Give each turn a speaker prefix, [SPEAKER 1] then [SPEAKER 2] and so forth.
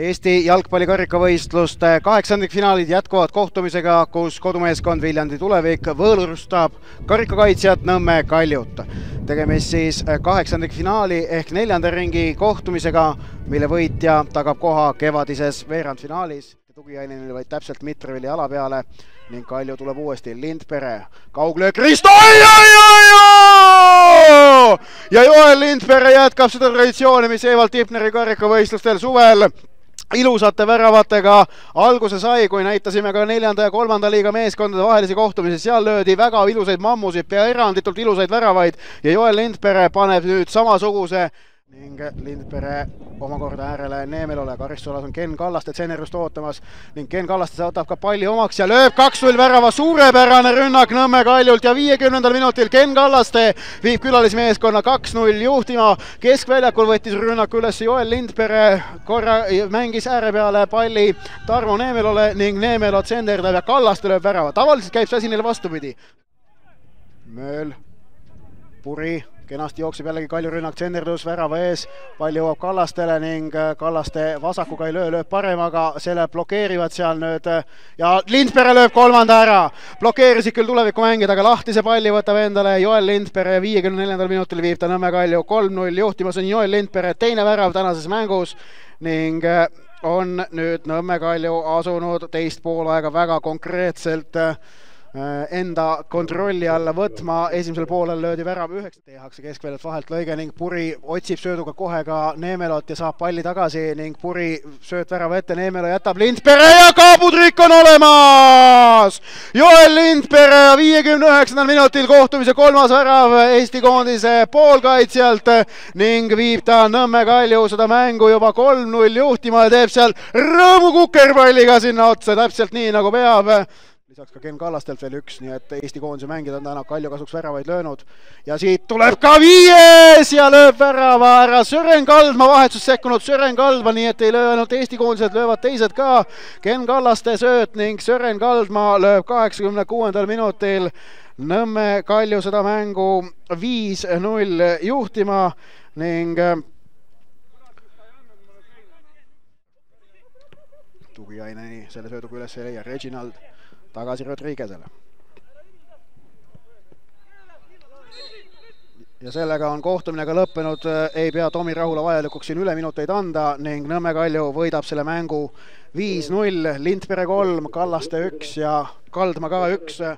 [SPEAKER 1] Eesti jalgpallikarikavõistluste kaheksandikfinaalid jätkuvad kohtumisega, kus kodumeeskond Viljandi Tulevik võõrustab karikakaitsjat Nõmme Kaljut. Tegemist siis kaheksandikfinaali ehk neljanda ringi kohtumisega, mille võitja tagab koha kevadises veerandfinaalis. Tugiainenil vaid täpselt Mitrevili jala peale ning Kalju tuleb uuesti. Lindpere, kauglöök, Risto! Ja Joel Lindpere jätkab seda traditsiooni, mis Evald Tipneri karikavõistlustel suvel ilusate väravatega alguse sai, kui näitasime ka neljanda ja kolmanda liiga meeskondade vahelisi kohtumisi. Seal löödi väga ilusaid mammusid, pea eranditult ilusaid väravaid ja Joel Lindpere paneb nüüd samasuguse ning Lindpere omakorda äärele Neemelole. Karistusalas on Ken Kallaste tsenerust ootamas ning Ken Kallaste võtab ka palli omaks ja lööb 2-0 värava. Suurepärane rünnak Nõmme Kaljult ja 50. minutil Ken Kallaste viib külalismeeskonna 2-0 juhtima. Keskväljakul võttis rünnaku üles Joel Lindpere, korra mängis ääre peale palli Tarmo Neemelole ning Neemelo tsenderdab ja Kallaste lööb värava. Tavaliselt käib see asi neile vastupidi. Mööl, Puri kenasti jookseb jällegi Kalju rünnak, tsenderdus värava ees, pall jõuab Kallastele ning Kallaste vasakuga ei lööb paremaga, selle blokeerivad seal nüüd ja Lindpere lööb kolmanda ära. Blokeerisid küll Tuleviku mängida, aga lahtise palli võtab endale Joel Lindpere ja 54. minutil viib ta Nõmme Kalju 3-0 juhtimas on Joel Lindpere teine värav tänases mängus ning on nüüd Nõmme Kalju asunud teist poolaega väga konkreetselt enda kontrolli alla võtma. Esimesel poolel löödi värav 9, tehakse keskväljalt vahelt lõige ning Puri otsib sööduga kohe ka Neemelot ja saab palli tagasi ning Puri sööt värava ette, Neemelo jätab Lindpere ja kaabutrikk on olemas! Joel Lindpere 59. minutil kohtumise kolmas värav Eesti koondise poolkaitsjalt ning viib ta Nõmme Kalju seda mängu juba 3-0 juhtima ja teeb seal rõõmu kukerpalliga sinna otsa, täpselt nii nagu peab. Lisaks ka Ken Kallastelt veel üks, nii et Eesti koondise mängida on täna Kalju kasuks väravaid löönud. Ja siit tuleb ka viies ja lööb värava ära Sören Kaldma, vahetsus sekkunud Sören Kaldma, nii et ei löö ainult Eesti koondised, löövad teised ka. Ken Kallaste sööt ning Sören Kaldma lööb 86. minutil Nõmme Kalju seda mängu 5-0 juhtima ning Tugiaineni selle sööduga üles ei leia, Reginald tagasi Rodriguezele. Ja sellega on kohtumine ka lõppenud, ei pea Tomi Rahula vajalikuks siin üle minuteid anda ning Nõmme Kalju võidab selle mängu 5-0, Lindpere 3, Kallaste 1 ja Kaldma ka 1.